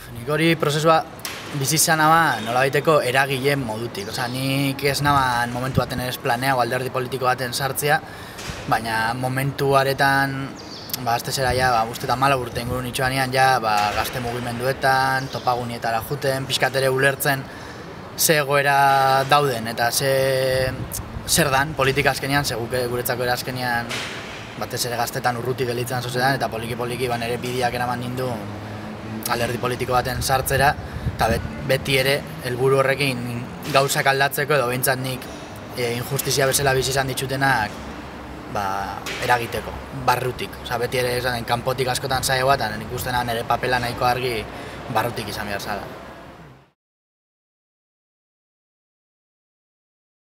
Nik hori prozesua bizitzana nolabaiteko eragileen modutik. Nik ez naban momentu baten ez planeago alderdi politiko baten sartzea, baina momentu aretan, azte zera uste 14 urte inguru nitxoanean, gazte mugimenduetan, topagunietara juten, pixkatere ulertzen ze egoera dauden eta zer dan politika azkenean, seguke guretzako era azkenean batez ere gaztetan urruti gelitzen sozetan, eta poliki-poliki nire bideak eraman nindu alderdi politiko baten sartzera, eta beti ere helburu horrekin gauzak aldatzeko edo behintzat nik injustizia bezala bizi izan ditzutenak eragiteko, barrutik. Beti ere kanpotik askotan zaila bat, nik uste nire papela nahiko argi barrutik izan behar zala.